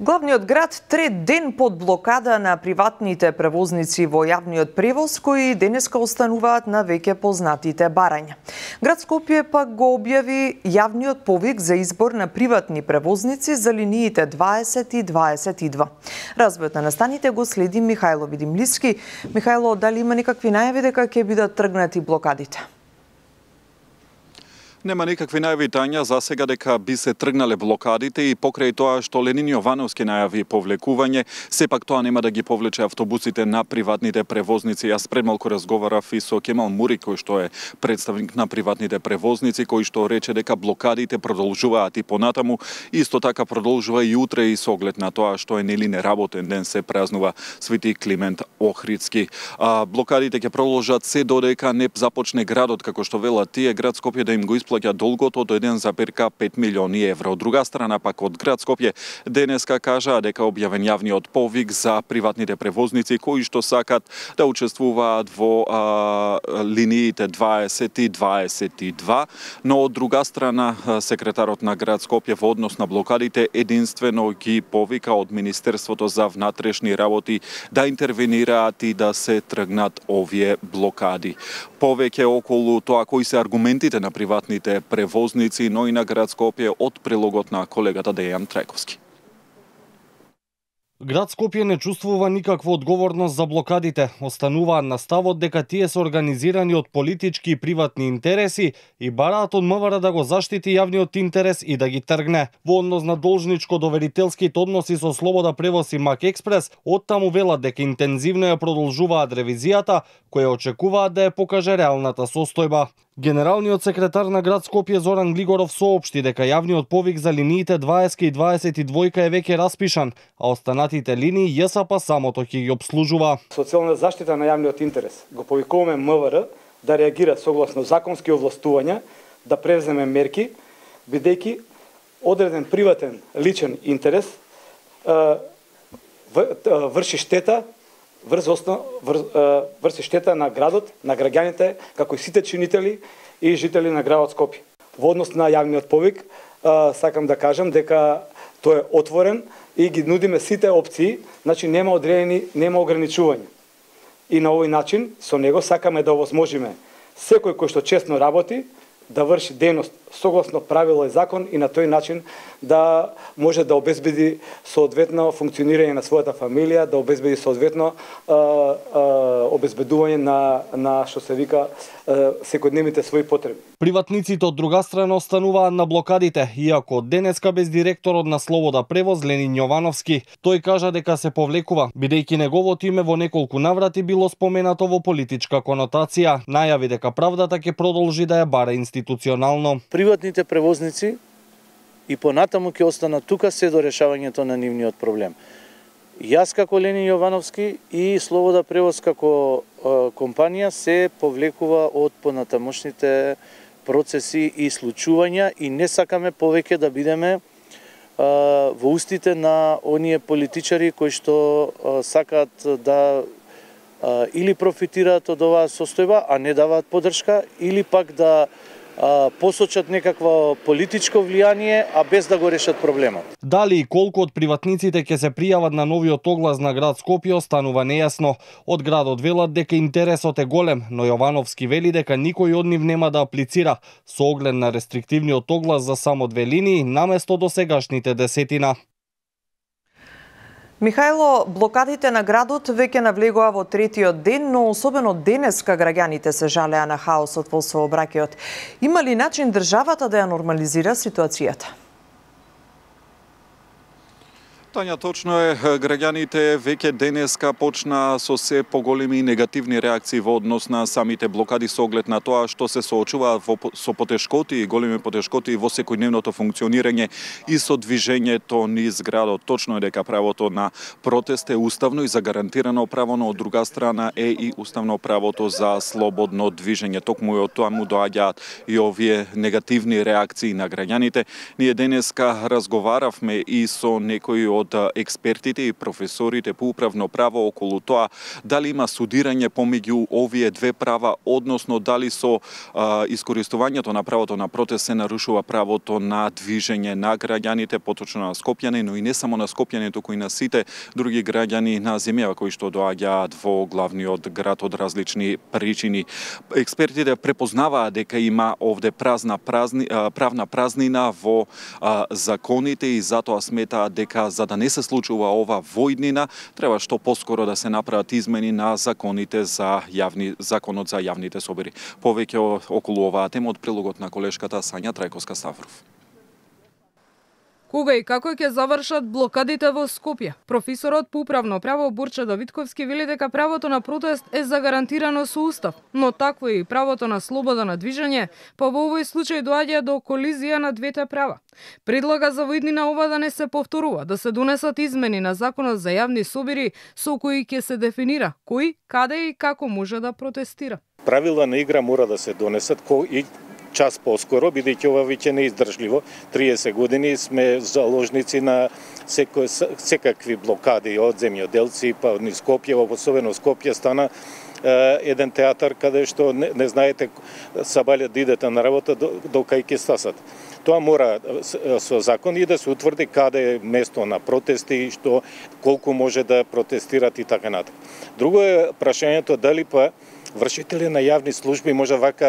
Главниот град трет ден под блокада на приватните превозници во јавниот превоз, кои денеска остануваат на веќе познатите барања. Град Скопје пак го објави јавниот повик за избор на приватни превозници за линиите 20 и 22. Развојот на настаните го следи Михајло Видимлиски. Михајло, дали има некакви најави дека ќе бидат тргнати блокадите? Нема никакви најави, Тања, за сега дека би се тргнале блокадите и покрај тоа што Ленин Јовановски најави повлекување, сепак тоа нема да ги повлече автобусите на приватните превозници. Јас пред малку разговарав и со Кемал Мури, кој што е представник на приватните превозници, кој што рече дека блокадите продолжуваат и понатаму. Исто така продолжува и утре и со оглед на тоа што е нели неработен ден, се празнува Свети Климент Охридски. Блокадите ќе продолжат се додека не започне градот, како што велат тие, град Скопје да им го исплаќа долгото од 1,5 милиони евра. Од друга страна пак од град Скопје денеска кажаа дека објавен јавниот повик за приватните превозници кои што сакат да учествуваат во линиите 20 и 22, но од друга страна секретарот на град Скопје во однос на блокадите единствено ги повика од Министерството за внатрешни работи да интервенираат и да се тргнат овие блокади. Повеќе околу тоа кои се аргументите на приватните превозници, но и на град Скопје од прилогот на колегата Дејан Трајковски. Град Скопје не чувствува никаква одговорност за блокадите. Остануваат на ставот дека тие се организирани од политички и приватни интереси и бараат од МВР да го заштити јавниот интерес и да ги тргне. Во однос на должничко-доверителските односи со Слобода превоз и Мак Експрес, оттаму велат дека интензивно ја продолжуваат ревизијата, која очекуваат да ја покаже реалната состојба. Генералниот секретар на град Скопје Зоран Глигоров соопшти дека јавниот повик за линиите 20 и 22 е веќе распишан, а останатите линии ЈСП самото ќе ги обслужува. Со цел на заштита на јавниот интерес го повикуваме МВР да реагира согласно законски овластувања, да превземе мерки, бидејќи одреден приватен личен интерес врши штета врши штета на градот, на граѓаните, како и сите чинители и жители на градот Скопје. Во однос на јавниот повик, сакам да кажам дека тој е отворен и ги нудиме сите опции, значи нема одредени, нема ограничувања. И на овој начин, со него сакаме да овозможиме секој кој што честно работи, да врши дејност согласно правило и закон и на тој начин да може да обезбеди соодветно функционирање на својата фамилија, да обезбеди соодветно обезбедување на што се вика секојдневните своји потреби. Приватниците од друга страна остануваат на блокадите, иако денеска без директорот на Слобода превоз Ленин Јовановски. Тој кажа дека се повлекува, бидејќи неговото име во неколку наврати било споменато во политичка конотација. Најави дека правдата ќе продолжи да ја бара институционално. Приватните превозници и понатаму ќе останат тука се до решавањето на нивниот проблем. Јас како Ленин Јовановски и Слобода превоз како компанија се повлекува од понатамошните процеси и случувања и не сакаме повеќе да бидеме во устите на оние политичари кои што сакаат да или профитираат од оваа состојба, а не даваат поддршка, или пак да посочат некакво политичко влијание, а без да го решат проблемот. Дали и колку од приватниците ќе се пријават на новиот оглас на град Скопје останува нејасно. Од градот велат дека интересот е голем, но Јовановски вели дека никој од нив нема да аплицира со оглед на рестриктивниот оглас за само 2 линии наместо досегашните 10. Михајло, блокадите на градот веќе навлегува во третиот ден, но особено денеска граѓаните се жалеа на хаосот во сообраќајот. Има ли начин државата да ја нормализира ситуацијата? Тања, точно е, граѓаните веќе денеска почна со се поголеми негативни реакции во однос на самите блокади со оглед на тоа што се соочуваат со потешкоти и големи потешкоти во секојдневното функционирање и со движењето низ градот. Точно е дека правото на протест е уставно и загарантирано право, но од друга страна е и уставно правото за слободно движење. Токму од тоа му доаѓаат и овие негативни реакции на граѓаните. Ние денеска разговаравме и со некои од од експертите и професорите по управно право околу тоа дали има судирање помеѓу овие две права, односно дали со искористувањето на правото на протест се нарушува правото на движење на граѓаните, поточно на скопјани, но и не само на скопјани, туку и на сите други граѓани на земјава кои што доаѓаат во главниот град од различни причини. Експертите препознаваат дека има овде правна празнина во законите и затоа сметаат дека за да не се случува ова војднина, треба што поскоро да се направат измени на законите за законот за јавните собори. Повеќе околу оваа тема од прилогот на колешката Сања Трајковска-Ставров. Кога и како ќе завршат блокадите во Скопје? Професорот по управно право Борче Давидковски вели дека правото на протест е загарантирано со устав, но такво и правото на слобода на движење, па во овој случај доаѓа до колизија на двете права. Предлага за војднина ова да не се повторува, да се донесат измени на законот за јавни собори со кои ќе се дефинира кој, каде и како може да протестира. Правила на игра мора да се донесат и час поскоро, бидејќи ова веќе не издржливо. 30 години сме заложници на секакви блокади од земјоделци, па низ Скопје, особено Скопје стана еден театар каде што не знаете сабаља да идете на работа до кај ќе стасат. Тоа мора со закон и да се утврди каде е место на протести, што колку може да протестират и така натаму. Друго е прашањето дали па вршители на јавни служби може вака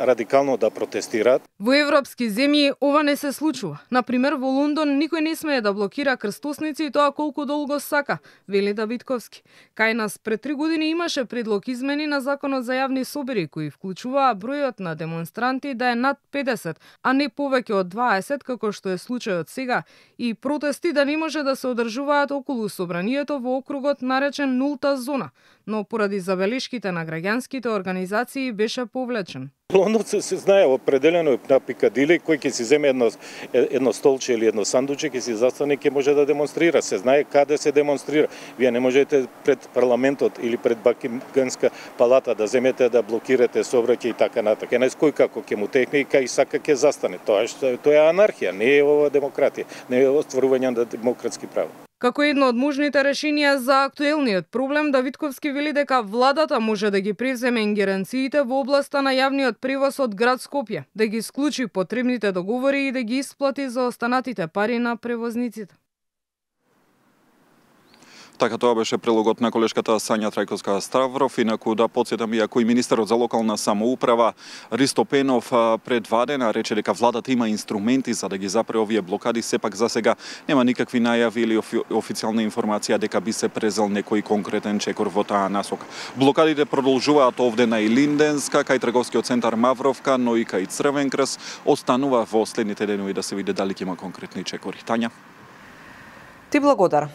радикално да протестираат. Во европски земји ова не се случува. Например, во Лондон никој не смее да блокира крстосници и тоа колку долго сака, вели Давидковски. Кај нас пред 3 години имаше предлог измени на законот за јавни собори кои вклучуваа бројот на демонстранти да е над 50, а не повеќе од 20 како што е случајот сега, и протести да не може да се одржуваат околу собранието во округот наречен нулта зона, но поради забелешките на граѓанските организации беше повлечен. Лондон се знае определено на Пикадили, кој ќе си земе едно столче или едно сандуче, ќе си застане, ќе може да демонстрира. Се знае каде се демонстрира. Вие не можете пред парламентот или пред Бакингамска палата да земете да блокирате сообраќај и така натака. Кој како ќе му текне и кај сака ќе застане. Тоа е анархија, не е ова демократија, не е остварување на демократски права. Како едно од можните решенија за актуелниот проблем, Давидковски вели дека владата може да ги превземе ингеренциите во областа на јавниот превоз од град Скопје, да ги исклучи потребните договори и да ги исплати за останатите пари на превозниците. Така тоа беше прилогот на колешката Сања Трајковска-Ставров. Инаку да потсетам, иако и министерот за локална самоуправа Ристо Пенов пред Вадена рече дека владата има инструменти за да ги запре овие блокади, сепак за сега нема никакви најави или официјална информација дека би се презел некој конкретен чекор во таа насока. Блокадите продолжуваат овде на Илинденска, кај трговскиот центар Мавровка, но и кај Црвен крст. Останува во следните денови да се види дали ќе има конкретни чекори. Тања? Ти благодарам.